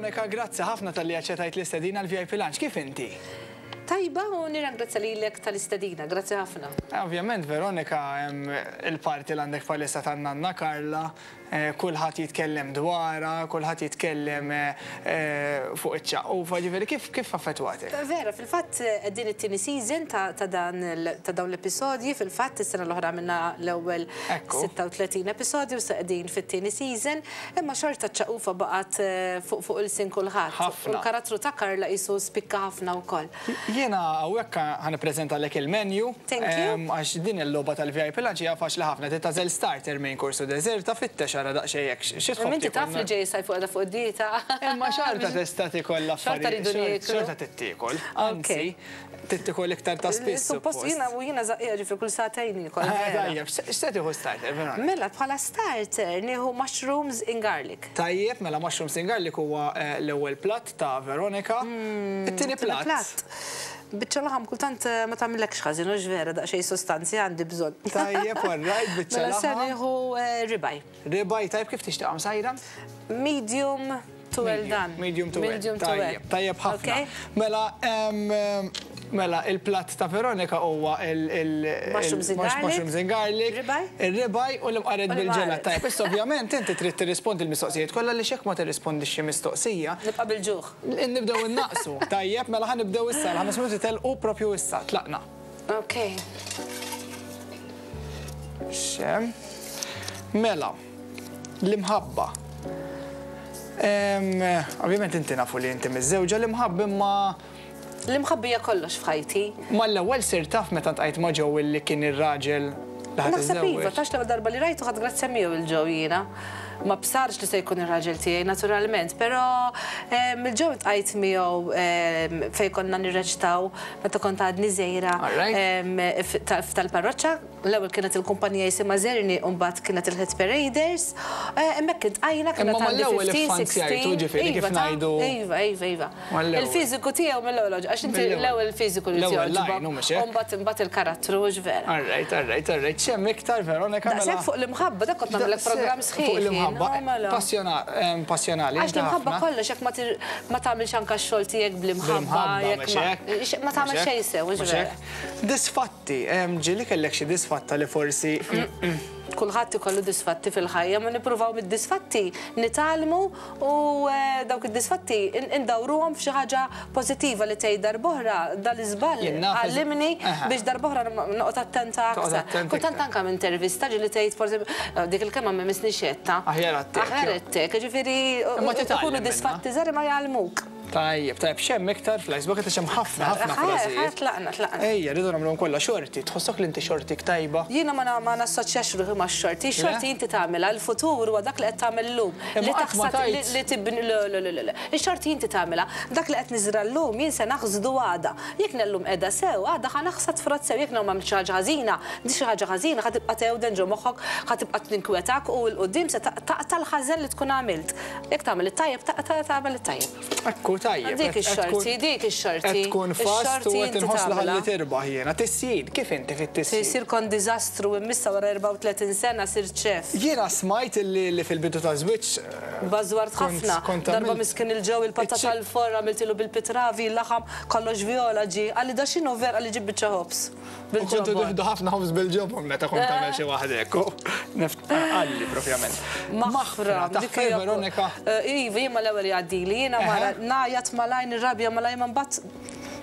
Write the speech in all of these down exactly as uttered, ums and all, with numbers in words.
Veronika, grazzi ħafna talli aċċettajt l-istedina l-V I P Lunch. Kif inti? Tajba, u nirringrazzja lilek tal-istedina, grazzi ħafna. Ovvjament, Veronika, hemm il-parti l għandek palissa tan-nanna Karla, eh, kulħadd jitkellem dwarha, kulħadd jitkellem eh, fuq iċ-ċaqqufa, ġifieri kif kif affettwatek? Vera, fil-fatt din it-tieni season ta' ta' dan il- ta' dawn l-episodji, fil-fatt is-sena l-oħra minna l-ewwel Ekku. sitta u tletin episodju, sa qegħdin fit-tieni season, imma xorta ċ-ċaqqufa baqgħet eh, fuq fuq ilsien kulħadd. Ħafna. U l-karattru ta' Karla qisu spikka ħafna wkoll. Jiena hawnhekk ħa nippreżentalek il-menu. Thank you. em, Għax din il-logħba tal-V I P Lunch hija faċli ħafna. Tagħżel starter, main course u dessert, ta' fittex ara daqsxejn hekk. Xi tħobb Inti tiekol? taf li ġej sajf fuq fuq id-dieta. Imma xorta tista' tiekol Xorta l-affarijiet. rridu nieklu. Xorta tittiekol. Anzi, tittikol iktar ta' spiss. Suppost jiena u jiena żaqqija, ġifieri kull sagħtejn niekol. Ah, Vera. tajjeb, x'se tieħu starter, Veronika? Mela, bħala starter nieħu mushrooms in garlic. Tajjeb, mela mushrooms in garlic huwa eh, l-ewwel platt ta' Veronika. It-tieni platt. Platt. Biċċa laħam kultant eh, ma tagħmilekx ħażin, hux vera, daqsxejn sostanzi għandi bżonn. Tajjeb, all right, biċċa Mela se laħam. nieħu eh, ribeye. Ribeye, tajjeb, kif tixtieqha msajra? Medium to well done. Medium to well. Medium to well. Tajjeb, tajjeb ħafna. Okay. Mela, em, em, mela il-platt ta' Veronika huwa il- il- Mushrooms in il- garlic. mushrooms in garlic, Ribeye. il-ribeye u l-imqaret U bil-ġelat. l-imqaret. Tajjeb, issa ovvjament inti trid tirrispondi l-mistoqsijiet kollha li xek ma tirrispondix xi mistoqsija. Nibqa' bil-ġuħ. Nibdew innaqsu. Tajjeb, mela ħa nibdew issa, l-ħames minuti telqu propju issa, tlaqna. Ok. Xem. Mela, l-imħabba. Em, Ovvjament inti nafu li inti miżżewġa, l-imħabba imma L-imħabba hija kollox f'ħajti. Mal-ewwel sir taf meta ltqajt ma' Joe li kien ir-raġel li ħa Naħseb iva, tiżżewweġ. tax l darba li rajtu ħadt grazzja miegħu 'l Joe jiena. Ma bsarx li se jkun ir-raġel tiegħi naturalment, però il-Joe ltqajt miegħu em, fejn konna nirreċtaw meta kont għadni żgħira Alright. em, f- ta- tal-parroċċa. L-ewwel kienet il-kumpanija jisimha Zerni u mbagħad kienet il-Hit Paraders. Eh, Hemmhekk iltqajna kienet Imma għandi mal-ewwel ħmistax, iffanzjajtu, sittax. ġifieri, kif Iva, ta' ngħidu- Iva, iva, iva. Mal-ewwel. Il-fiżiku tiegħu mill-ewwel, għax inti Mill-ewwel. l-ewwel fiżiku li L-ewwel jogħġbok. line, hu mhux hekk? U mbagħad imbagħad il-karattru, hux vera. All right, all right, all right. X'hemm iktar, Veronika? Mela? Daqshekk fuq l-imħabba, dak kont nagħmlek programm sħiħ. Fuq jien. l-imħabba. Oh, mela. Passjona- em, Passjonali. Għax inti l-imħabba ħafna. kollox, jekk ma tir- ma tagħmilx anke x-xogħol tiegħek bl-imħabba, Bl-imħabba, jekk mhux ma hekk? ma tagħmel Mhux xejn hekk? sew, hux Mhux vera. hekk? Disfatti, em, ġieli kellek xi disfatta li forsi Kulħadd ikollu disfatti fil-ħajja, ma nippruvaw mid-disfatti nitgħallmu u eh, dawk id-disfatti in- indawruhom f'xi ħaġa pożittiva li tgħid darb'oħra dal-iżball Jien naf eż- għallimni Aha. biex darb'oħra noqgħod attenta Toqgħod aktar. attent Kultant iktar. anke minn intervista ġieli tgħid forsi eh, dik il-kelma ma misni xetta. Aħjar għattek, Aħjar jo. għattek, ġifieri Imma titgħallem ikunu minnha. disfatti żgħar ma jgħallmuk. Tajjeb, tajjeb, x'hemm iktar fl-Icebox qed hemm ħafna ħafna Ħa, ħa, frażijiet. tlaqna, tlaqna. Ejja, rridu nagħmluhom kollha. Xorti, tħossok li inti xortik tajba? Jiena ma na- ma nassoċjax ruħi ma' xorti. Xorti Le? inti tagħmilha, l-futur huwa dak li qed tagħmel llum. Imma Li qatt ma taħsad li tajt. li tibni le le le le. le. Ix-xorti inti tagħmilha. Dak li qed niżra llum jien se naħsdu għada. Jekk nellum qiegħda sew, għada ħa naħsad frott sew. Jekk ma xi ħaġa ħażina, di xi ħaġa ħażina ħa tibqa' tewden ġo moħħok, ħa tibqa' tinkwetak u 'l quddiem se taqta' l-ħażen li tkun għamilt. Jekk tagħmel it-tajjeb, taqta' tagħmel it-tajjeb. Ekku, tajjeb. Dik qed- qed ix-xorti, tkun- dik ix-xorti. Qed tkun fast u Ix-xorti qed inti inħoss li ħalli tagħmilha. tirbaħ jiena. Tisjir, kif inti fit-tisjir? Tisjir kon diżastru, immissa wara erbgħa u tletin sena sirt chef. Jiena smajt li li fil-bidu ta' żwieġ Bażwart Kont- ħafna. kont Darba għamilt- miskin il-Joe il-patata Iċ- l-forra għamiltilu bil-pitravi, il-laħam kollox viola ġi. Qalli, "Da x'inhu ver?" Qalli, "Ġib biċċa ħobż." U kontu Bil-ġobon. tieħdu ħafna ħobż bil-ġobon meta kont tagħmel xi waħda hekk. Qalli propjament. Maħfra, dik taħfer hija- Veronika. Eh, Iva, jien mal-ewwel jgħaddili, jiena mara Eħe. ngħajjat malajr, nirrabja malajr, ma mbagħad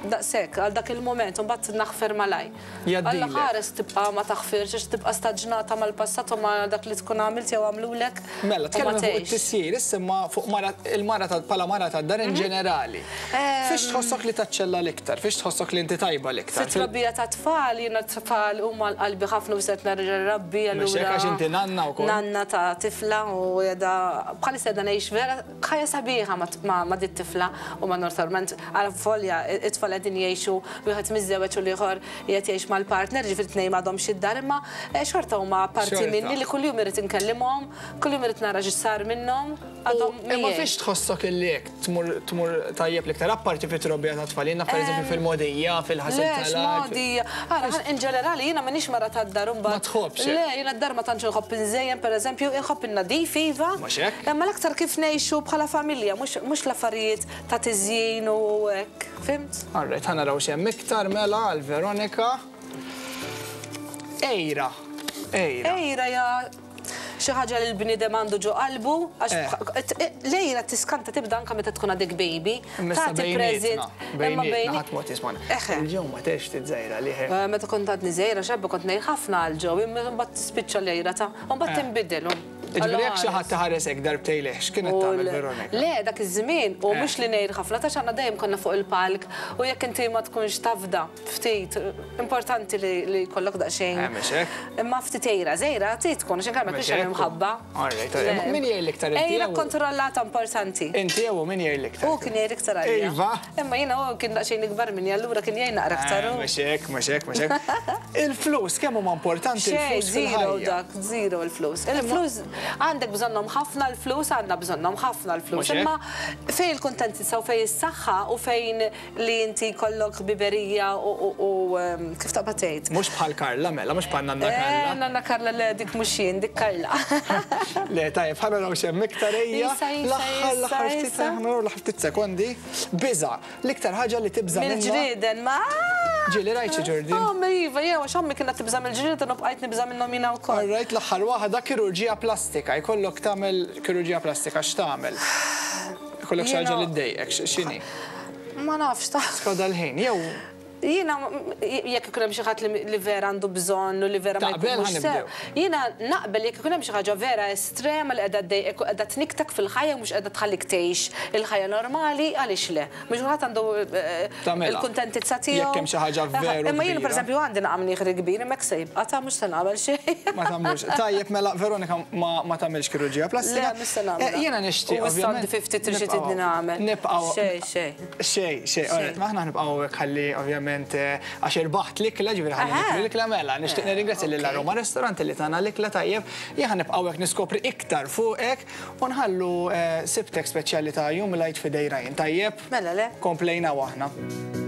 daqshekk għal dak il-moment, u mbagħad naħfer malajr. Jgħaddilek. Alla ħares tibqa' ma taħfirx, għax tibqa' staġnata mal-passat u ma dak li tkun għamilt jew għamlulek Mela, u ma tkellem fuq tgħix. it-tisjir, issa ma fuq mara- il-mara ta' bħala mara ta' dar in ġenerali. Fiex tħossok li taċċella l-iktar? Fiex tħossok li inti tajba l-iktar? Fit-trobbija ta' tfal, jiena tfal huma għal qalbi ħafna u set nerġa' nrabbi Mhux hekk, allura. għax inti nanna wkoll. Nanna ta' tifla u jeda bħalissa qiegħda ngħix vera ħajja sabiħa ma- ma ma dit tifla u ma normalment għal folja it-tfal tfal qegħdin jgħixu wieħed miżżewweġ u l-ieħor qiegħed jgħix mal-partner, ġifieri tnejn m'għadhomx id-dar, imma xorta huma parti minni li kuljum irid inkellimhom, kuljum irid nara x'sar minnhom. Imma fiex tħossok illi hekk tmur tajjeb l-iktar apparti fit-trobbija ta' tfal, jiena pereżempju fil-modija, fil-ħasil tal-art. Modija. Ara, in ġenerali jiena m'iniex mara tad-dar imbagħad. Ma tħobbx. Le, jiena d-dar ma tantx inħobb inżejjen pereżempju, inħobb in-nadif iva. Mhux hekk? Imma l-aktar kif ngħixu bħala familja, mhux l-affarijiet ta' tiżjin u hekk, fimt? Alright, ħa naraw x'hemm iktar mela għal Veronika. Ejra. Ejra. Ejra ja xi ħaġa li l-bniedem għandu ġo qalbu, għax lejra tiskanta tibda anke meta tkun għadek baby. Tagħti preżent. Imma bejnietna ħadd mod jismana. Il-ġew ma tex tiżejra li. Meta kont għadni żgħira xebba kont ngħid ħafna għal ġew, imma mbagħad tispiċċa lejra ta' u mbagħad tinbidel. Ġifieri jekk xi ħadd taħares hekk darbtejn leh, x'kienet tagħmel Veronika? Le, dak iż-żmien u mhux li ngħid ħafna ta' x'għandna dejjem konna fuq il-palk u jekk inti ma tkunx tafda ftit, importanti li jkollok daqsxejn. Imma ftit ejra, żgħira trid tkun għax inkella ma jkunx hemm imħabba. Min jgħid l-iktar inti? Ejra kontrollata importanti. Inti jew min jgħid l-iktar? Hu kien jgħid iktar għalija. Iva. Imma jiena hu kien daqsxejn ikbar minni, allura kien jgħid naqra aktar. Mhux hekk, mhux hekk, mhux hekk. Il-flus kemm huma importanti l-flus fil-ħajja? Dak, zero il-flus. Il-flus għandek bżonnhom ħafna l-flus, għandna bżonnhom ħafna l-flus. Imma fejn il-kuntentizza u fejn is-saħħa u fejn li inti kollok biberija u kif taqbad tgħid. Mhux bħal Karla mela, mhux bħal Nanna Karla. Nanna Karla le dik mhux jien, dik Karla. Le tajjeb, ħa naraw x'hemm iktar ejja. L-aħħar l-aħħar ftit naraw l-aħħar ftit sekondi. Biża, l-iktar ħaġa li tibża' minnha. Mill-ġrieden ma. Ġieli rajt xi ġurdin? Oh, iva, jew għax ommi kienet tibża' mill-ġrieden u bqajt nibża' minnhom jiena wkoll. All right, l-aħħar waħda kirurġija plastika, jkollok tagħmel kirurġija plastika x'tagħmel? Jkollok xi ħaġa li ddejqek, x'inhi? Ma nafx ta' Skoda l-ħin, jew Jiena jekk ikun hemm xi ħadd li vera għandu bżonn u li vera ma jkunx sew. Jiena naqbel jekk ikun hemm xi ħaġa vera estrema li qiegħda ddejqek u qiegħda tniktek fil-ħajja u mhux qiegħda tħallik tgħix il-ħajja normali, għaliex le. Mhux kulħadd għandu il-kuntentizza tiegħu. Jekk hemm xi ħaġa veru. Imma jiena pereżempju għandi naqam nieħri kbir, imma hekk se jibqa' ta' mhux se nagħmel xejn. Ma tagħmlux. Tajjeb mela Veronika ma tagħmilx kirurġija plastika. Le, mhux se nagħmel. Jiena nixtieq ovvjament. U issa għandi xi tridni nagħmel. Nibqgħu. Xejn, xejn. Xejn, xejn. Aħna nibqgħu hekk ħalli ovvjament għax irbaħt l-ikla, ġifieri ħalli niklu l-ikla mela. Nixtieq nirringrazzja lil Aroma Restaurant li tagħna l-ikla tajjeb. Jien nibqgħu hekk niskopri iktar fuqek u nħallu sibtek speċjali ta' Jum l-Għid f'idej Ryan. Tajjeb? Mela le. Komplejna aħna.